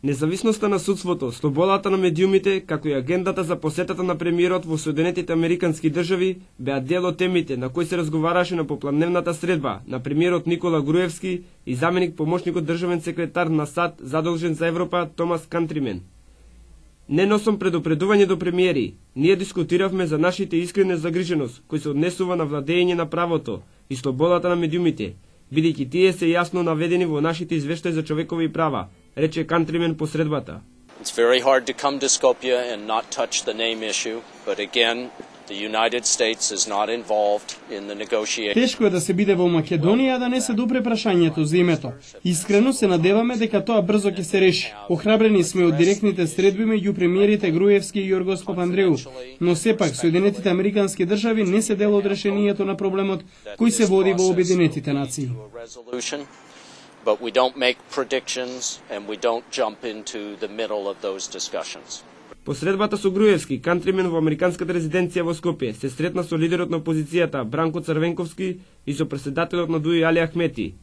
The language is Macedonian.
Независноста на судството, слободата на медиумите, како и агендата за посетата на премиерот во Соединетите Американски држави беа дел од темите на кои се разговараше на попладневната средба на премиерот Никола Груевски и заменик помошникот државен секретар на САД задолжен за Европа Томас Кантримен. Не носам предупредување до премиери. Ние дискутиравме за нашите искрена загриженост, кој се однесува на владење на правото и слободата на медиумите, бидејќи тие се јасно наведени во нашите извештаи за човекови права, рече Кантримен по средбата. It's very hard to come to Skopje and not touch the name issue, but again, the United States is not involved in the negotiation. Тешко е да се биде во Македонија да не се допре прашањето за името. Искрено се надеваме дека тоа брзо ќе се реши. Охрабрени сме од директните средби меѓу премиерите Груевски и Јоргос Папандреу, но сепак Соединетите Американски држави не се дел од решението на проблемот кој се води во Обединетите нации. But we don't make predictions and we don't jump into the middle of those discussions. По средбата со Груевски, Кантримен во американската резиденција во Скопје се сретна со лидерот на опозицијата Бранко Црвенковски и со претседателот на ДУИ Али Ахмети.